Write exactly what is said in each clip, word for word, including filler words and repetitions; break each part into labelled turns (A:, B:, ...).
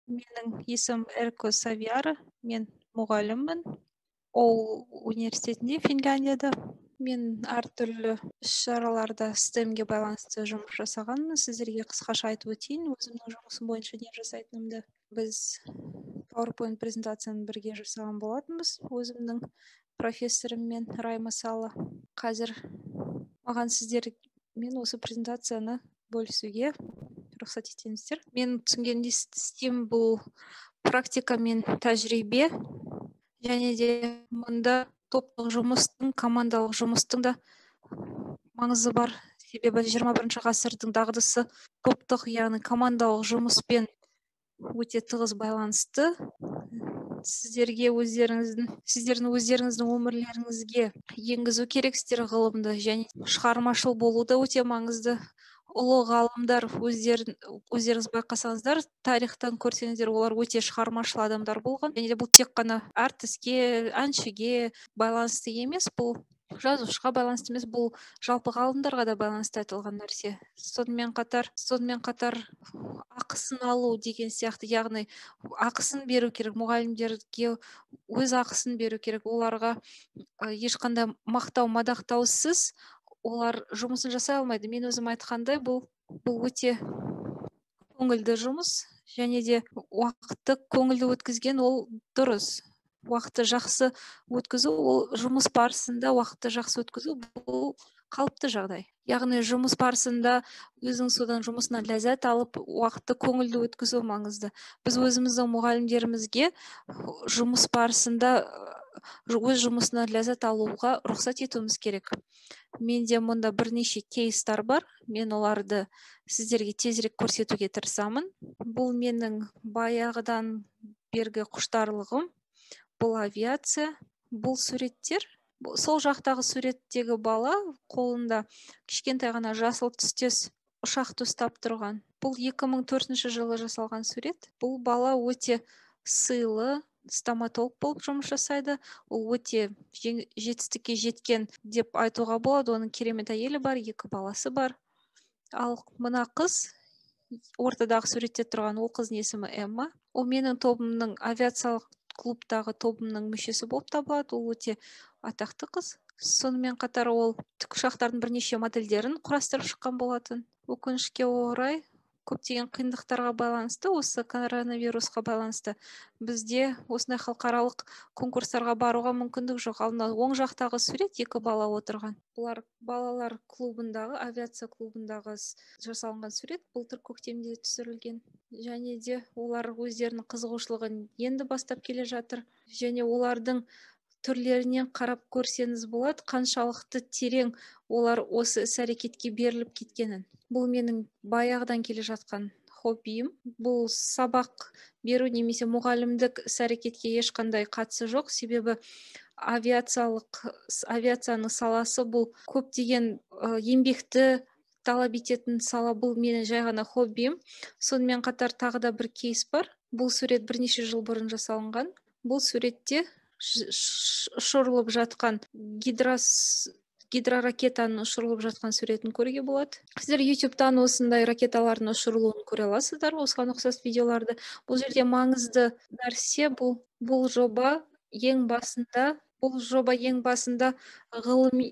A: Менің есімім Эрко Савиара, мен мұғаліммін. Ол университетінде, Финляндияда. Мен әртүрлі іс-шараларда стемге байланысты жұмыс жасағанмын. Сіздерге қысқаша айтып өтейін, өзімнің жұмысым бойынша не жасайтынымды. Біз PowerPoint презентацияны бірге жасаған болатынбыз, өзімнің профессорыммен Райма Сала. Қазір маған сіздермен осы презентацияны бөлісуге рұқсат етіңіздер. Мен түсінгенде STEAM бұл практика мен тәжірибе, және де мұнда топтық жұмыстың, командалық жұмыстың да маңызы бар. Себебі жиырма бірінші ғасырдың дағдысы топтық, яғни командалық жұмыспен өте тығыз байланысты. Сіздерге өздеріңіздің, сіздердің өздеріңіздің өмірлеріңізге енгізу керексіздер ғылымды, және шығармашыл болу да өте маңызды. Ұлы ғалымдар, өздерін, өздеріңіз байқасаңыздар, тарихтан көрсеңіздер, олар өте шығармашыл адамдар болған. Және де бұл тек қана әртіске, әншіге байланысты емес, бұл жазушыға байланысты емес, бұл жалпы ғалымдарға да байланысты айтылған нәрсе. Сонымен қатар, сонымен қатар ақысын алу деген сияқты, яғни ақысын беру керек, мұғалімдерге өз ақысын беру керек, оларға ешқандай мақтау, мадақтаусыз олар жұмысын жасай алмайды. Мен өзім айтқандай, бұл бұл өте көңілді жұмыс, және де уақытты көңілді өткізген ол дұрыс. Уақытты жақсы өткізу, ол жұмыс барысында уақытты жақсы өткізу, бұл қалыпты жағдай. Яғни жұмыс барысында өзің содан жұмысынан ләззат алып, уақытты көңілді өткізу маңызды. Біз өзіміздің мұғалімдерімізге жұмыс барысында өз жұмысынан ләззат алуға рұқсат етуіміз керек. Менде мұнда бірнеше кейстар бар. Мен оларды сіздерге тезірек көрсетуге тырысамын. Бұл менің баяғыдан бергі құштарлығым. Бұл авиация, бұл суреттер. Сол жақтағы суреттегі бала қолында кішкентай ғана жасыл түстес ұшақты ұстап тұрған. Бұл екі мың төртінші жылы жасалған сурет. Бұл бала өте сыйлы, стоматолог болып жұмыс жасайды. Ол өте жетістікке жеткен деп айтуға болады. Оның керемет әйелі бар, екі баласы бар. Ал мына қыз, ортадағы суретте тұрған, ол қыздың есімі Эмма. Ол менің тобымның, авиациялық клубтағы тобымның мүшесі болып табылады. Ол өте атақты қыз. Сонымен қатар ол тікұшақтардың бірнеше модельдерін құрастырып шыққан болатын. Өкінішке орай, көптеген қиындықтарға байланысты, осы коронавирусқа байланысты бізде осындай халықаралық конкурстарға баруға мүмкіндік жоқ. Ал оң жақтағы сурет екі бала отырған. Бұлар балалар клубындағы, авиация клубындағы жасалынған сурет, былтыр көктемде түсірілген. Және де олар өздерінің қызығушылығын енді бастап келе жатыр. Және олардың түрлерінен қарап көрсеңіз болады, қаншалықты терең олар осы іс-әрекетке беріліп кеткенін. Бұл менің баяғыдан келе жатқан хоббиім. Бұл сабақ беру немесе мұғалімдік іс-әрекетке ешқандай қатысы жоқ, себебі авиациялық авиацияның саласы бұл көптеген еңбекті талап ететін сала. Бұл менің жай ғана хоббиім. Сонымен қатар тағы да бір кейс бар. Бұл сурет бірнеше жыл бұрын жасалынған. Бұл суретте ұшырылып жатқан гидрос гидроракетаның ұшырылып жатқан суретін көруге болады. Сіздер ютубтан осындай ракеталардың ұшырылуын көре аласыздар, осыған ұқсас видеоларды. Бұл жерде маңызды нәрсе, бұл бұл жоба ең басында, бұл жоба ең басында ғылыми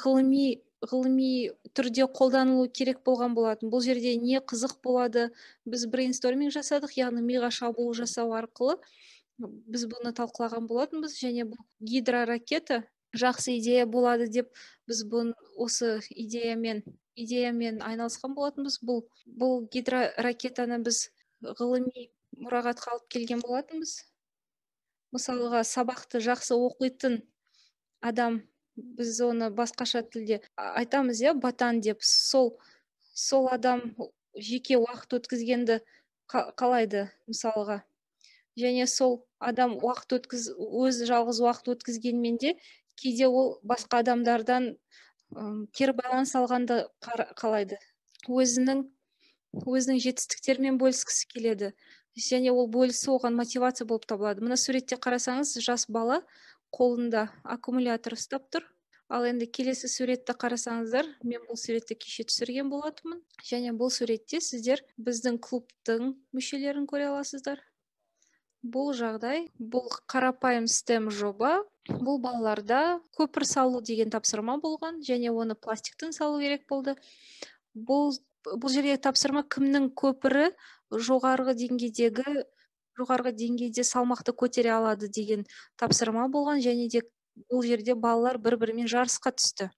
A: ғылыми ғылыми түрде қолданылу керек болған болатын. Бұл жерде не қызық болады? Біз брейнсторминг жасадық, яғни миға шабуыл жасау арқылы біз бұны талқылаған болатынбыз, және бұл гидроракета жақсы идея болады деп біз бұны осы идеямен идеямен айналысқан болатынбыз. Бұл бұл гидроракетаны біз ғылыми мұрағатқа алып келген болатынбыз. Мысалға, сабақты жақсы оқитын адам, біз оны басқаша тілде айтамыз, иә, батан деп. Сол сол адам жеке уақыт өткізгенді қалайды, мысалға. Және сол адам уақыт өткіз, өз жалғыз уақыт өткізгенмен де кейде ол басқа адамдардан кері байланыс алғанды қалайды. Өзінің өзінің жетістіктерімен бөліскісі келеді. Және ол бөлісу оған мотивация болып табылады. Мына суретте қарасаңыз, жас бала қолында аккумулятор ұстап тұр. Ал енді келесі суретті қарасаңыздар, мен бұл суретті кеше түсірген болатынмын. Және бұл суретте сіздер біздің клубтың мүшелерін көре аласыздар. Бұл жағдай, бұл қарапайым STEM жоба. Бұл балаларда көпір салу деген тапсырма болған, және оны пластиктен салу керек болды. Бұл бұл жерге тапсырма кімнің көпірі жоғарғы деңгейдегі жоғарғы деңгейде салмақты көтере алады деген тапсырма болған, және де бұл жерде балалар бір-бірімен жарысқа түсті.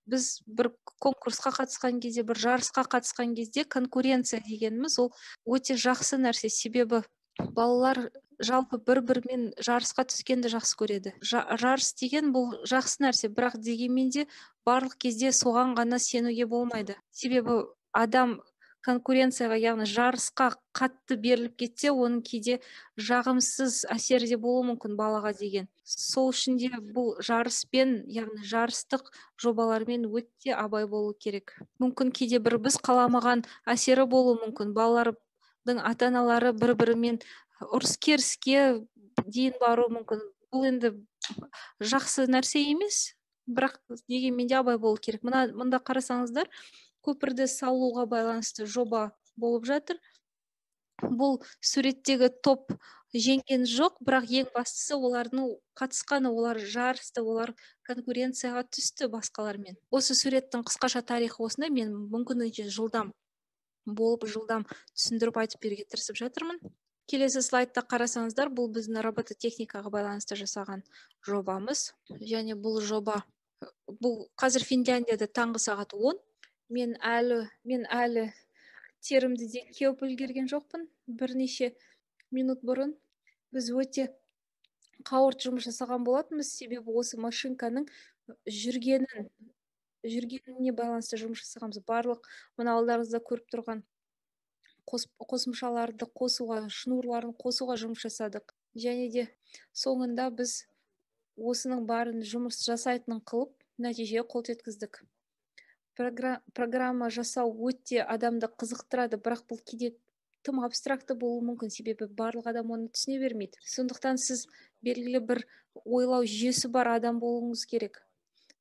A: Біз бір конкурсқа қатысқан кезде, бір жарысқа қатысқан кезде конкуренция дегеніміз ол өте жақсы нәрсе, себебі балалар жалпы бір-бірімен жарысқа түскенді жақсы көреді. Жарыс деген бұл жақсы нәрсе, бірақ дегенмен де барлық кезде соған ғана сенуге болмайды. Себебі адам конкуренцияға, яғни жарысқа қатты беріліп кетсе, оның кейде жағымсыз әсері де болуы мүмкін балаға деген. Сол үшін де бұл жарыспен, яғни жарыстық жобалармен өте абай болу керек. Мүмкін кейде бір біз қаламаған әсері болуы мүмкін. Балалардың ата-аналары бір-бірімен ұрыс-керіске дейін баруы мүмкін. Бұл енді жақсы нәрсе емес, бірақ дегенмен де абай болу керек. Мына мында қарасаңыздар, көпірді салуға байланысты жоба болып жатыр. Бұл суреттегі топ жеңген жоқ, бірақ ең бастысы олардың қатысқаны, олар жарысты, олар конкуренцияға түсті басқалармен. Осы суреттің қысқаша тарихы осындай, мен мүмкіндігінше жылдам болып, жылдам түсіндіріп айтып беруге тырысып жатырмын. Келесі слайдта қарасаңыздар, бұл біздің робототехникаға байланысты жасаған жобамыз. Және бұл жоба, бұл қазір Финляндияда таңғы сағат он. Мен әлі, мен әлі терімді де кеуіп үлгерген жоқпын. Бірнеше минут бұрын біз өте қауырт жұмыс жасаған болатынбыз, себебі осы машинканың жүргенін жүргеніне байланысты жұмыс жасағанбыз. Барлық мына алдарыңызда көріп тұрған қосымшаларды қосуға, шнурларын қосуға жұмыс жасадық. Және де соңында біз осының барын жұмыс жасайтынын қылып, нәтижеге қол жеткіздік. Программа жасау өте адамды қызықтырады, бірақ бұл кейде тым абстракты болуы мүмкін, себебі барлық адам оны түсіне бермейді. Сондықтан сіз белгілі бір ойлау жүйесі бар адам болуыңыз керек.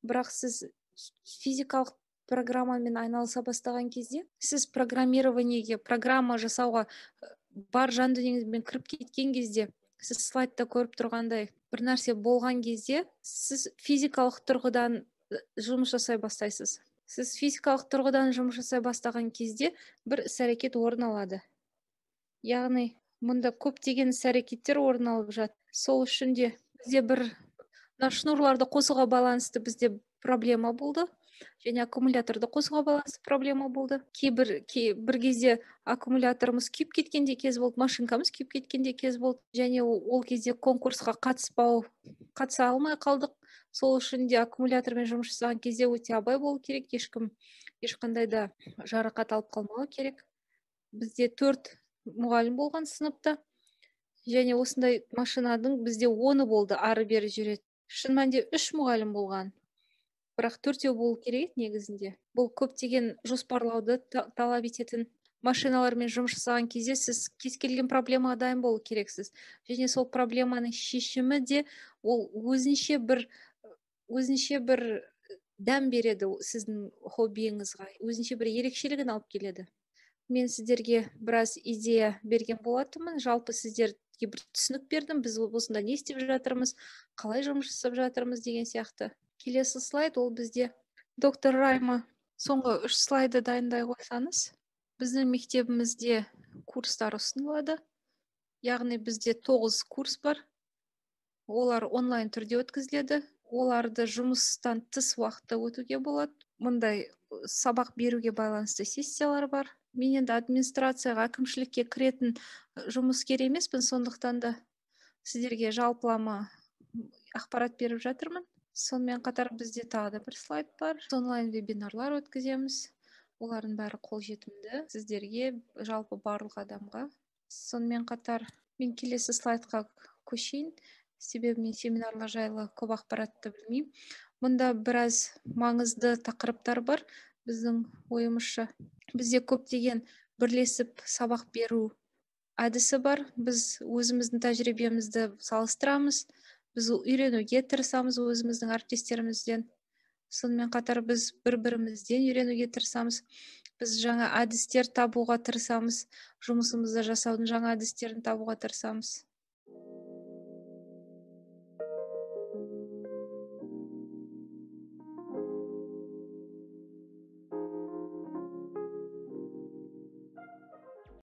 A: Бірақ сіз физикалық программамен айналыса бастаған кезде, сіз программированиеге, программа жасауға бар жан дүниеңізбен кіріп кеткен кезде, сіз слайдта көріп тұрғандай бір нәрсе болған кезде, сіз физикалық тұрғыдан жұмыс жасай бастайсыз. Сіз физикалық тұрғыдан жұмыс жасай бастаған кезде бір іс-әрекет орын алады. Яғни, мұнда көптеген іс-әрекеттер орын алып жатыр. Сол үшін де бізде бір шнурларды қосуға байланысты бізде проблема болды. Және аккумуляторды қосуға байланысты проблема болды. Кейбір бір кезде аккумуляторымыз күйіп кеткенде кез болды, машинкамыз күйіп кеткенде кез болды. Және ол кезде конкурсқа қатыспау, қатыса алмай қалдық. Сол үшін де аккумулятормен жұмыс жасаған кезде өте абай болу керек, ешкім ешқандай да жарақат алып қалмауы керек. Бізде төрт мұғалім болған сыныпта, және осындай машинаның бізде оны болды, ары-бері жүреді. Шын мәнінде үш мұғалім болған, бірақ төртеу болу керек негізінде. Бұл көптеген жоспарлауды талап ететін. Машиналармен жұмыс жасаған кезде сіз кез келген проблемаға дайын болу керексіз. Және сол проблеманың шешімі де ол өзінше бір өзінше бір дәм береді сіздің хоббиіңізға, өзінше бір ерекшелігін алып келеді. Мен сіздерге біраз идея берген болатынмын. Жалпы сіздерге бір түсінік бердім. Біз осында не істеп жатырмыз, қалай жұмыс жасап жатырмыз деген сияқты. Келесі слайд, ол бізде доктор Райма. Соңғы үш слайды дайындай қойсаңыз. Біздің мектебімізде курстар ұсынылады. Яғни бізде тоғыз курс бар. Олар онлайн түрде өткізіледі. Оларды жұмыстан тыс уақытта өтуге болады. Мұндай сабақ беруге байланысты сессиялар бар. Мен енді администрацияға, әкімшілікке кіретін жұмыскер емеспін, сондықтан да сіздерге жалпылама ақпарат беріп жатырмын. Сонымен қатар бізде тағы да бір слайд бар. Онлайн вебинарлар өткіземіз. Олардың бәрі қолжетімді сіздерге, жалпы барлық адамға. Сонымен қатар мен келесі слайдқа көшейін. Себебі мен семинарлар жайлы көп ақпаратты білмеймін. Мұнда біраз маңызды тақырыптар бар біздің ойымызша. Бізде көптеген бірлесіп сабақ беру әдісі бар. Біз өзіміздің тәжірибемізді салыстырамыз. Біз үйренуге тырысамыз өзіміздің әріптестерімізден. Сонымен қатар біз бір-бірімізден үйренуге тырысамыз. Біз жаңа әдістер табуға тырысамыз. Жұмысымызды жасаудың жаңа әдістерін табуға тырысамыз.